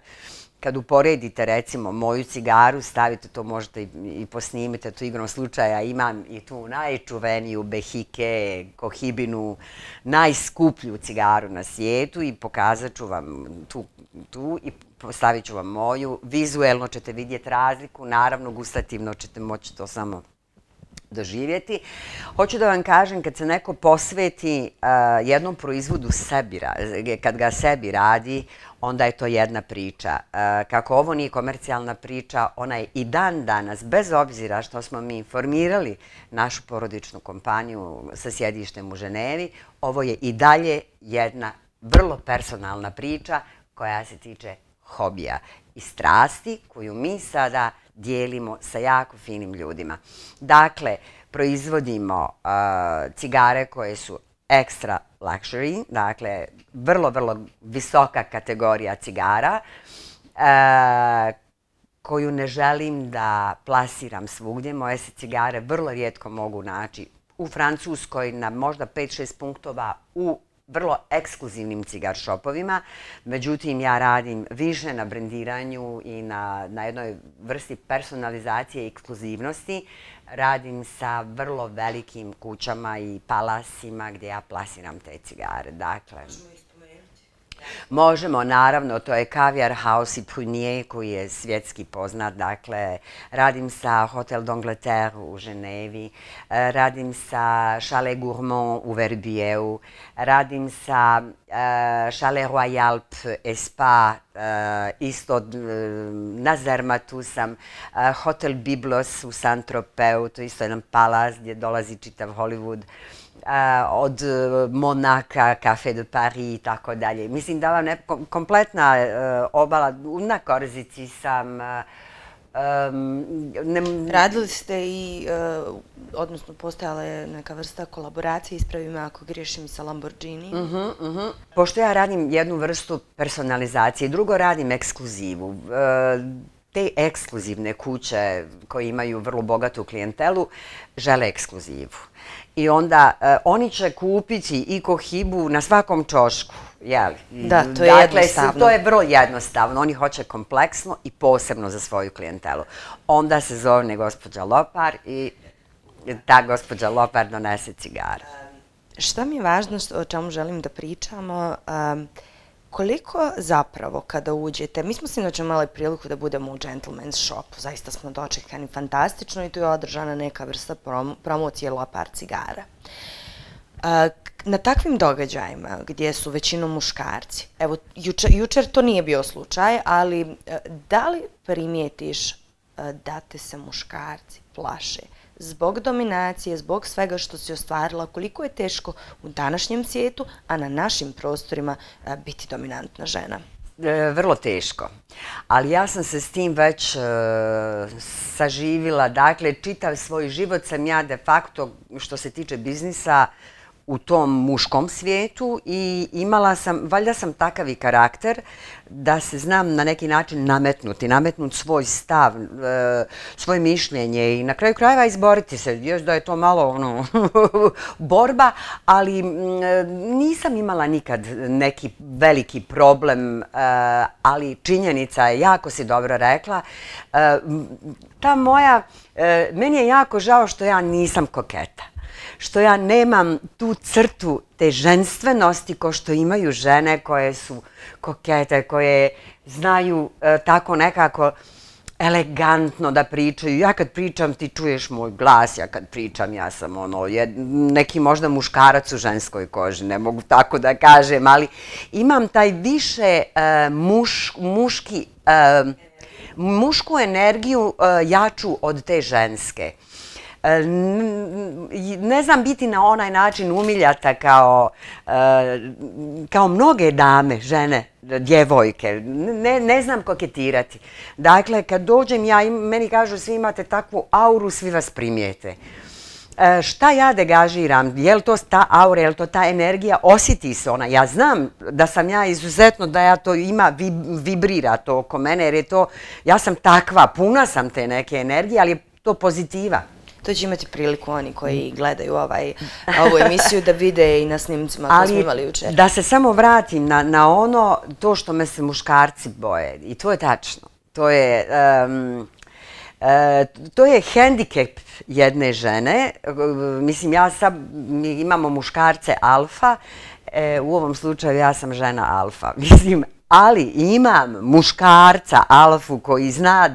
kad uporedite recimo moju cigaru, stavite to, možete i posnimite to igrom slučaja, imam i tu najčuveniju Behike, Kohibinu, najskuplju cigaru na svijetu i pokazat ću vam tu i stavit ću vam moju. Vizuelno ćete vidjeti razliku, naravno gustativno ćete moći to samo doživjeti. Hoću da vam kažem, kad se neko posveti jednom proizvodu sebi, kad ga sebi radi, onda je to jedna priča. Kako ovo nije komercijalna priča, ona je i dan danas, bez obzira što smo mi formirali našu porodičnu kompaniju sa sjedištem u Ženevi, ovo je i dalje jedna vrlo personalna priča koja se tiče hobija i strasti koju mi sada dijelimo sa jako finim ljudima. Dakle, proizvodimo cigare koje su extra luxury, dakle, vrlo, vrlo visoka kategorija cigara, koju ne želim da plasiram svugdje. Moje se cigare vrlo rijetko mogu naći u Francuskoj na možda 5-6 punktova u vrlo ekskluzivnim cigar shopovima. Međutim, ja radim više na brendiranju i na jednoj vrsti personalizacije i ekskluzivnosti. Radim sa vrlo velikim kućama i palasima gdje ja plasiram te cigare. Dakle, možemo, naravno, to je Caviar House i Prunier koji je svjetski poznat. Dakle, radim sa Hotel d'Angleterre u Ženevi, radim sa Chalet Gourmand u Verbieu, radim sa Chalet Royal et Spa, isto na Zermatu sam, Hotel Biblos u Saint-Tropez, to je isto jedan palas gdje dolazi čitav Hollywood, od Monaka, Café de Paris i tako dalje. Mislim da vam kompletna obala, na Korzici sam... Radili ste i, odnosno postojala je neka vrsta kolaboracije, ispravi me ako griješim, i sa Lamborghini. Pošto ja radim jednu vrstu personalizacije, drugo radim ekskluzivu. Te ekskluzivne kuće koje imaju vrlo bogatu klijentelu žele ekskluzivu. I onda oni će kupiti i Cohibu na svakom ćošku. Da, to je jednostavno. To je vrlo jednostavno. Oni hoće kompleksno i posebno za svoju klijentelu. Onda se zove gospođa Lopar i ta gospođa Lopar donese cigare. Šta mi je važno, o čemu želim da pričamo, koliko zapravo kada uđete, mi smo sinoć imali priliku da budemo u Gentleman's Shopu, zaista smo dočekani fantastično i tu je održana neka vrsta promocije Lopar cigara. Na takvim događajima gdje su većinom muškarci, evo jučer to nije bio slučaj, ali da li primijetiš da te se muškarci plaše zbog dominacije, zbog svega što si ostvarila, koliko je teško u današnjem svijetu, a na našim prostorima biti dominantna žena? Vrlo teško. Ali ja sam se s tim već saživila. Dakle, čitav svoj život sam ja de facto, što se tiče biznisa, u tom muškom svijetu i imala sam, valjda sam takav i karakter da se znam na neki način nametnuti svoj stav, svoje mišljenje i na kraju krajeva izboriti se. Još da je to malo borba, ali nisam imala nikad neki veliki problem, ali činjenica je, jako si dobro rekla, ta moja, meni je jako žao što ja nisam koketa. Što ja nemam tu crtu te ženstvenosti ko što imaju žene koje su kokete, koje znaju tako nekako elegantno da pričaju. Ja kad pričam ti čuješ moj glas, ja kad pričam ja sam neki možda muškarac u ženskoj koži, ne mogu tako da kažem, ali imam taj više mušku energiju jaču od te ženske. Ne znam biti na onaj način umiljata kao mnoge dame, žene, djevojke. Ne znam koketirati. Dakle, kad dođem ja, meni kažu svi imate takvu auru, svi vas primijete. Šta ja degažiram? Je li to ta aura, je li to ta energija? Osjeti se ona. Ja znam da sam ja izuzetno, da ja to vibrira to oko mene, jer je to, ja sam takva, puna sam te neke energije, ali je to pozitiva. To će imati priliku oni koji gledaju ovu emisiju da vide i na snimcima koje smo imali jučer. Da se samo vratim na ono, to što me se muškarci boje. I to je tačno. To je hendikep jedne žene. Mislim, mi imamo muškarce alfa. U ovom slučaju ja sam žena alfa. Mislim, ali imam muškarca alfu koji zna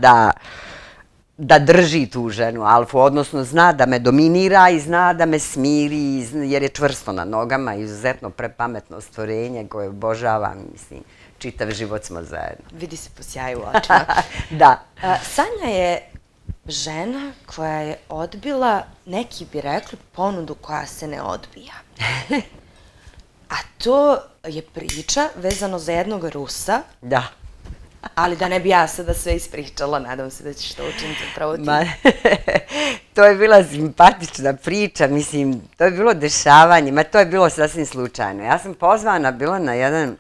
da drži tu ženu alfu, odnosno zna da me dominira i zna da me smiri, jer je čvrsto na nogama, izuzetno prepametno stvorenje koje obožavam, mislim, čitav život smo zajedno. Vidi se po sjaju u očima. Da. Sanja je žena koja je odbila, neki bi rekli, ponudu koja se ne odbija. A to je priča vezano za jednog Rusa. Da. Ali da ne bi ja sada sve ispričala, nadam se da ćeš to učiniti upravo ti. To je bila simpatična priča, mislim, to je bilo dešavanje, to je bilo sasvim slučajno. Ja sam pozvana bila na jedan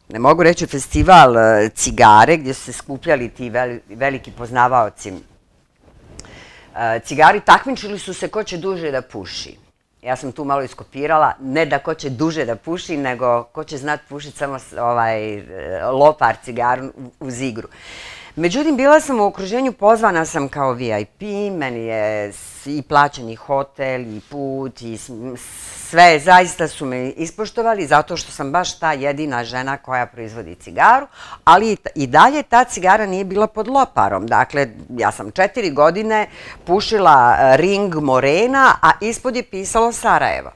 ne mogu reći festival cigare gdje su se skupljali ti veliki poznavaoci cigari, takmičili su se ko će duže da puši. Ja sam tu malo iskopirala, ne da ko će duže da puši, nego ko će znat pušiti samo lopar cigaru uz igru. Međutim, bila sam u okruženju, pozvana sam kao VIP, meni je i plaćeni hotel, i put, i sve, zaista su me ispoštovali zato što sam baš ta jedina žena koja proizvodi cigaru, ali i dalje ta cigara nije bila pod loparom. Dakle, ja sam 4 godine pušila ring Morena, a ispod je pisalo Sarajevo.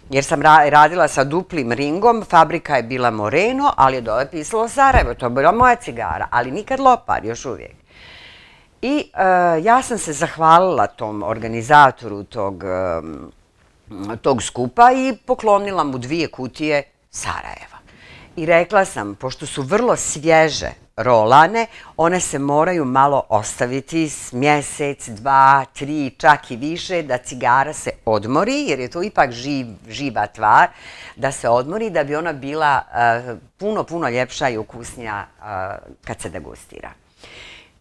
Jer sam radila sa duplim ringom, fabrika je bila Moreno, ali je dole pisalo Sarajevo, to je bila moja cigara, ali nikad lopar, još uvijek. I ja sam se zahvalila tom organizatoru tog skupa i poklonila mu 2 kutije Sarajeva. I rekla sam, pošto su vrlo svježe rolane, one se moraju malo ostaviti mjesec, 2, 3, čak i više, da cigara se odmori, jer je to ipak živa tvar, da se odmori, da bi ona bila puno ljepša i ukusnija kad se degustira.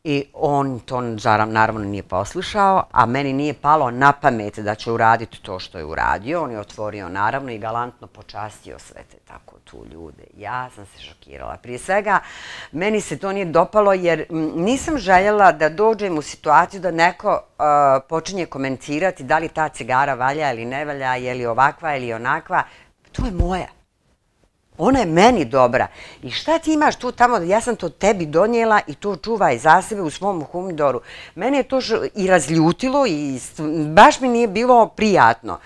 I on to naravno nije poslušao, a meni nije palo na pamet da će uraditi to što je uradio. On je otvorio naravno i galantno počastio sve te tako tu ljude. Ja sam se šokirala. Prije svega, meni se to nije dopalo jer nisam željela da dođem u situaciju da neko počinje komentirati da li ta cigara valja ili ne valja, je li ovakva ili onakva. To je moja. Ona je meni dobra. I šta ti imaš tu tamo, ja sam to tebi donijela i to čuvaj za sebe u svom humidoru. Mene je to i razljutilo i baš mi nije bilo prijatno.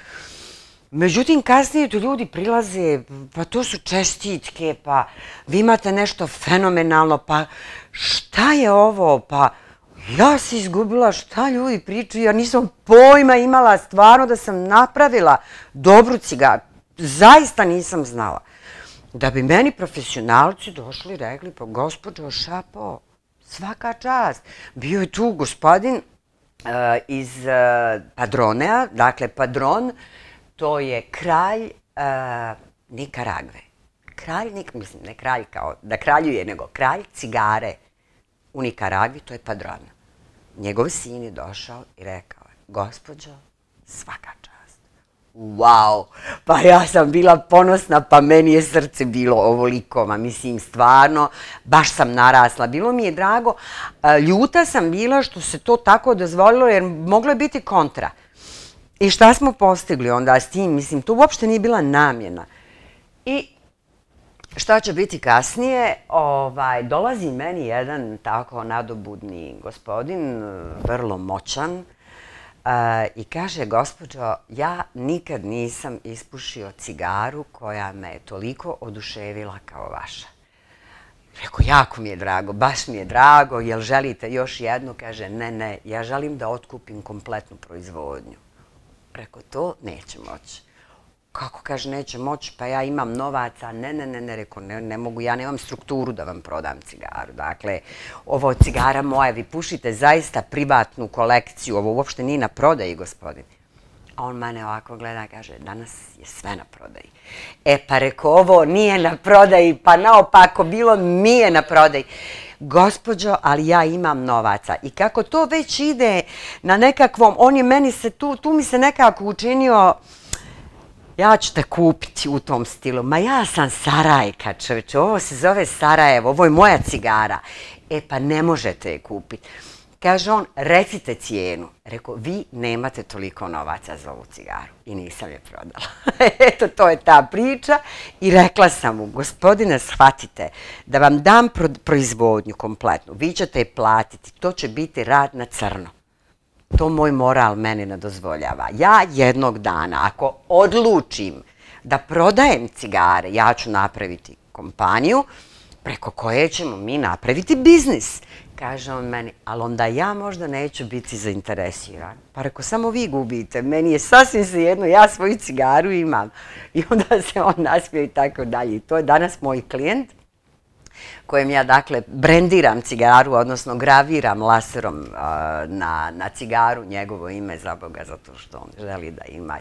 Međutim, kasnije tu ljudi prilaze, pa to su čestitke, pa vi imate nešto fenomenalno, pa šta je ovo, pa ja se izgubila šta ljudi pričaju, ja nisam pojma imala stvarno da sam napravila dobru cigaru. Zaista nisam znala. Da bi meni profesionalci došli i rekli, pa gospođo Šapo, svaka čast. Bio je tu gospodin iz Padronea, dakle Padron, to je kralj Nikaragve. Kralj, mislim, ne kralj kao da kraljuje, nego kralj cigare u Nikaragvi, to je Padron. Njegov sin je došao i rekao, gospođo, svaka čast. Wow, pa ja sam bila ponosna, pa meni je srce bilo ovoliko, ma mislim stvarno, baš sam narasla, bilo mi je drago, ljuta sam bila što se to tako dozvolilo jer moglo je biti kontra. I šta smo postigli onda s tim, mislim, to uopšte nije bila namjena. I šta će biti kasnije, dolazi meni jedan tako nadobudni gospodin, vrlo moćan, i kaže, gospođo, ja nikad nisam ispušio cigaru koja me je toliko oduševila kao vaša. Rekao, jako mi je drago, baš mi je drago, jel želite još jednu? Kaže, ne, ja želim da otkupim kompletnu proizvodnju. Rekao, to neće moći. Kako, kaže, neće moći, pa ja imam novaca. Ne, rekao, ne mogu, ja nemam strukturu da vam prodam cigaru. Dakle, ovo je cigara moja, vi pušite zaista privatnu kolekciju, ovo uopšte nije na prodaji, gospodin. A on mene ovako gleda, kaže, danas je sve na prodaji. Pa rekao, ovo nije na prodaji, pa naopako bilo mi je na prodaji. Gospođo, ali ja imam novaca. I kako to već ide na nekakvom, on je meni se, tu mi se nekako učinio, ja ću te kupiti u tom stilu. Ma ja sam Sarajka, čovječe, ovo se zove Sarajevo, ovo je moja cigara. Pa ne možete je kupiti. Kaže on, recite cijenu. Rekao, vi nemate toliko novaca za ovu cigaru. I nisam je prodala. Eto, to je ta priča. I rekla sam mu, gospodine, shvatite, da vam dam proizvodnju kompletnu. Vi ćete je platiti. To će biti rad na crno. To moj moral meni ne dozvoljava. Ja jednog dana, ako odlučim da prodajem cigare, ja ću napraviti kompaniju preko koje ćemo mi napraviti biznis. Kaže on meni, ali onda ja možda neću biti zainteresiran. Pa rekao, samo vi gubite, meni je sasvim svejedno, ja svoju cigaru imam. I onda se on nasmio i tako dalje. To je danas moj klijent. kojem ja dakle brendiram cigaru, odnosno graviram laserom na cigaru njegovo ime, za Boga, zato što on želi da ima.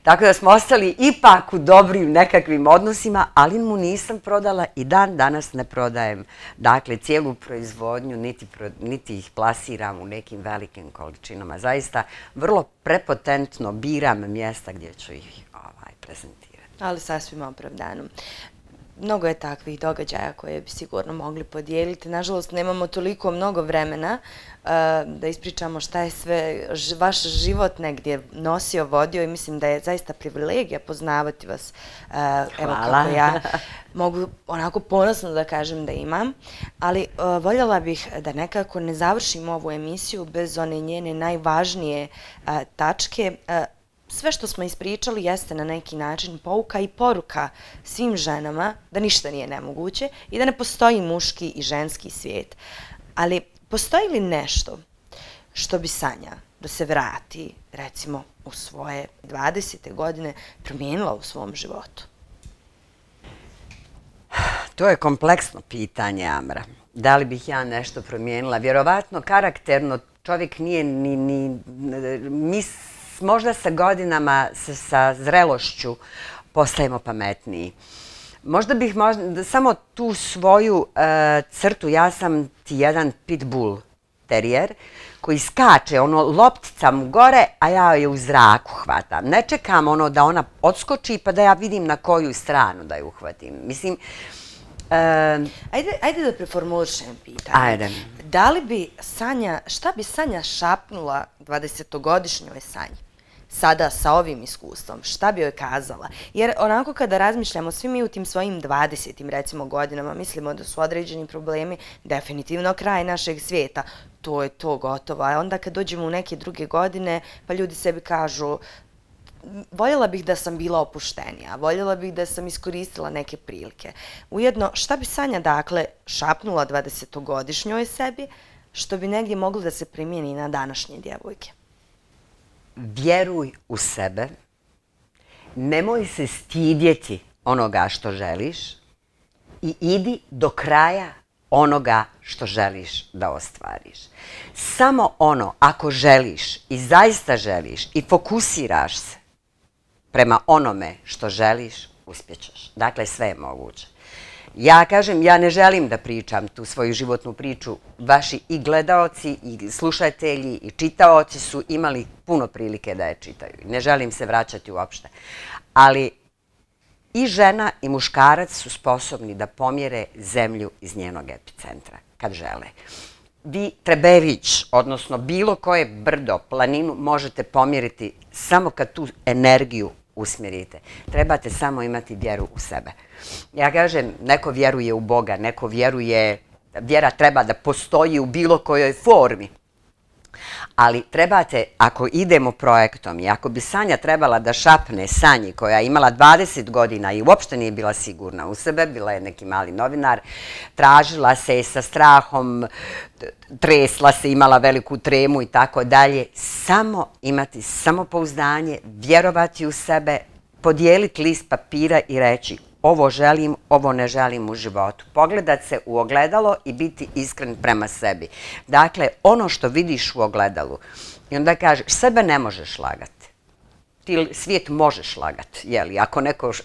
Tako da smo ostali ipak u dobrim nekakvim odnosima, ali mu nisam prodala i dan danas ne prodajem. Dakle, cijelu proizvodnju niti ih plasiram u nekim velikim količinama. Zaista vrlo prepotentno biram mjesta gdje ću ih prezentirati. Ali sasvim opravdano. Mnogo je takvih događaja koje bi sigurno mogli podijeliti. Nažalost, nemamo toliko mnogo vremena da ispričamo šta je sve vaš život negdje nosio, vodio i mislim da je zaista privilegija poznavati vas. Evo kako ja mogu onako ponosno da kažem da imam. Ali voljela bih da nekako ne završim ovu emisiju bez one njene najvažnije tačke. Sve što smo ispričali jeste na neki način pouka i poruka svim ženama da ništa nije nemoguće i da ne postoji muški i ženski svijet. Ali postoji li nešto što bi Sanja da se vrati, recimo, u svoje 20. godine promijenila u svom životu? To je kompleksno pitanje, Amra. Da li bih ja nešto promijenila? Vjerovatno, karakterno, čovjek nije ni možda sa godinama, sa zrelošću postajemo pametniji. Možda bih samo tu svoju crtu, ja sam ti jedan pitbull terijer koji skače, loptica mu gore, a ja je u zraku hvatam. Ne čekam da ona odskoči pa da ja vidim na koju stranu da je uhvatim. Mislim, Ajde da preformulišem pitanje. Ajde. Da li bi Sanja, šta bi Sanja šapnula 20-godišnjoj Sanji? Sada sa ovim iskustvom, šta bi joj kazala? Jer onako kada razmišljamo, svi mi u tim svojim 20. recimo godinama mislimo da su određeni problemi definitivno kraj našeg svijeta. To je to gotovo. A onda kad dođemo u neke druge godine, pa ljudi sebi kažu voljela bih da sam bila opuštenija, voljela bih da sam iskoristila neke prilike. Ujedno, šta bi Sanja dakle šapnula 20-godišnjoj sebi, što bi negdje moglo da se primijeni na današnje djevojke? Vjeruj u sebe, nemoj se stidjeti onoga što želiš i idi do kraja onoga što želiš da ostvariš. Samo ako želiš i zaista želiš i fokusiraš se prema onome što želiš, uspjećeš. Dakle, sve je moguće. Ja kažem, ja ne želim da pričam tu svoju životnu priču. Vaši i gledaoci, i slušatelji, i čitaoci su imali puno prilike da je čitaju. Ne želim se vraćati uopšte. Ali i žena i muškarac su sposobni da pomjere zemlju iz njenog epicentra, kad žele. Vi Trebević, odnosno bilo koje brdo, planinu, možete pomjeriti samo kad tu energiju usmjerite. Trebate samo imati vjeru u sebe. Ja kažem, neko vjeruje u Boga, neko vjeruje, vjera treba da postoji u bilo kojoj formi. Ali trebate, ako idemo projektom i ako bi Sanja trebala da šapne Sanji koja je imala 20 godina i uopšte nije bila sigurna u sebe, bila je neki mali novinar, tražila se sa strahom, tresla se, imala veliku tremu i tako dalje, samo imati samopouzdanje, vjerovati u sebe, podijeliti list papira i reći ovo želim, ovo ne želim u životu. Pogledat se u ogledalo i biti iskren prema sebi. Dakle, ono što vidiš u ogledalu i onda kažeš, sebe ne možeš lagati. Ti svijet možeš lagati, jeli?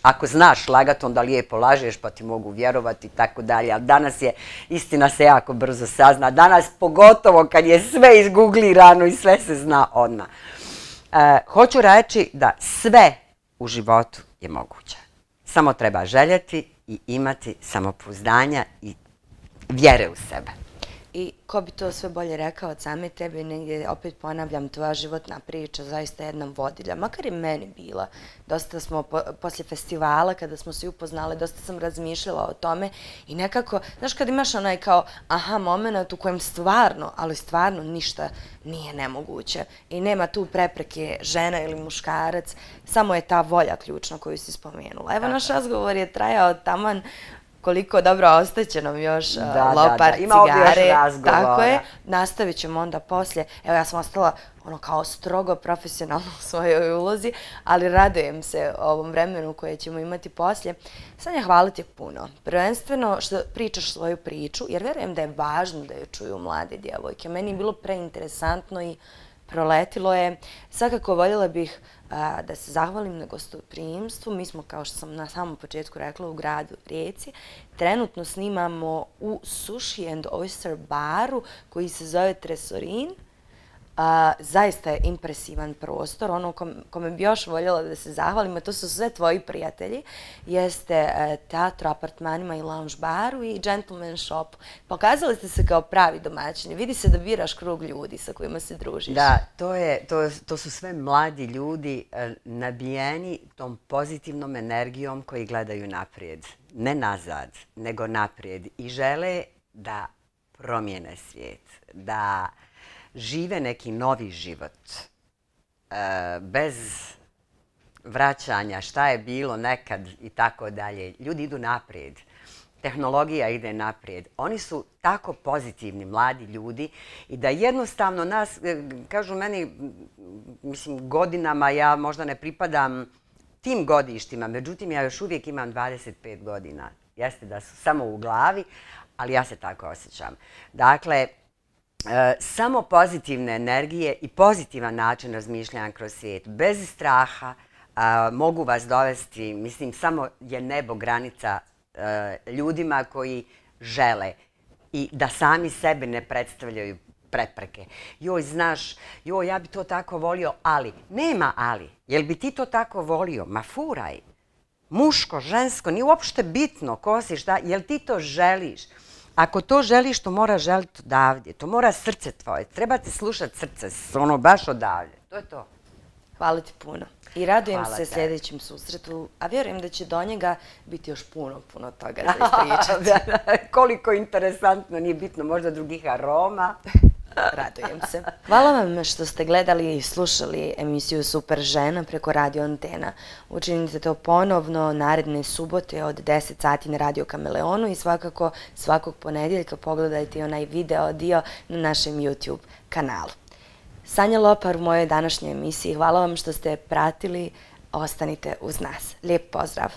Ako znaš lagati, onda lijepo lažeš pa ti mogu vjerovati i tako dalje. Ali danas je, istina se jako brzo sazna. Danas pogotovo kad je sve izguglirano i sve se zna odmah. Hoću reći da sve u životu je moguće. Samo treba željeti i imati samopouzdanja i vjere u sebe. I ko bi to sve bolje rekao od same tebe, negdje opet ponavljam, tvoja životna priča zaista jedna vodilja, makar i meni bila. Dosta smo poslije festivala, kada smo se upoznali, dosta sam razmišljala o tome i nekako, znaš kad imaš onaj kao aha moment u kojem stvarno, ali stvarno ništa nije nemoguće i nema tu prepreke žena ili muškarac, samo je ta volja ključna koju si spomenula. Evo naš razgovor je trajao taman koliko dobro ostaće nam još Lopar cigare. Tako je, nastavit ćemo onda poslije. Evo ja sam ostala kao strogo profesionalno u svojoj ulozi, ali radujem se ovom vremenu koje ćemo imati poslije. Sanja, hvala ti puno. Prvenstveno što pričaš svoju priču, jer verujem da je važno da je čuju mlade djevojke. Meni je bilo preinteresantno i proletilo je. Svakako voljela bih da se zahvalim na gostoprimstvu. Mi smo, kao što sam na samom početku rekla, u gradu Rijeci. Trenutno snimamo u Sushi and Oyster baru koji se zove Tresorin. Zaista je impresivan prostor. Ono kome bi još voljela da se zahvalim, a to su sve tvoji prijatelji, jeste teatro, apartmanima i lounge baru i gentleman shop. Pokazali ste se kao pravi domaćini. Vidi se da biraš krug ljudi sa kojima se družiš. Da, to su sve mladi ljudi nabijeni tom pozitivnom energijom koji gledaju naprijed. Ne nazad, nego naprijed. I žele da promijene svijet, da žive neki novi život, bez vraćanja šta je bilo nekad i tako dalje. Ljudi idu naprijed, tehnologija ide naprijed. Oni su tako pozitivni mladi ljudi i da jednostavno nas, kažu meni, mislim godinama ja možda ne pripadam tim godištima, međutim ja još uvijek imam 25 godina. Jeste da su samo u glavi, ali ja se tako osjećam. Dakle, samo pozitivne energije i pozitivan način razmišljanja kroz svijet, bez straha, mogu vas dovesti, mislim, samo je nebo granica ljudima koji žele i da sami sebe ne predstavljaju prepreke. Joj, znaš, joj, ja bi to tako volio, ali. Nema ali. Jel bi ti to tako volio? Ma furaj. Muško, žensko, nije uopšte bitno ko si, šta, jel ti to želiš? Ako to želiš, to mora želiti odavdje. To mora srce tvoje. Treba ti slušati srce, ono baš odavdje. To je to. Hvala ti puno. I radujem se sljedećem susretu, a vjerujem da će do njega biti još puno toga za ispričati. Koliko interesantno, nije bitno, možda drugih aroma. Radujem se. Hvala vam što ste gledali i slušali emisiju Super žena preko Radio Antena. Učinite to ponovno naredne subote od 10 sati na Radio Kameleonu i svakako svakog ponedjeljka pogledajte onaj video dio na našem YouTube kanalu. Sanja Lopar u mojoj današnjoj emisiji. Hvala vam što ste pratili. Ostanite uz nas. Lijep pozdrav.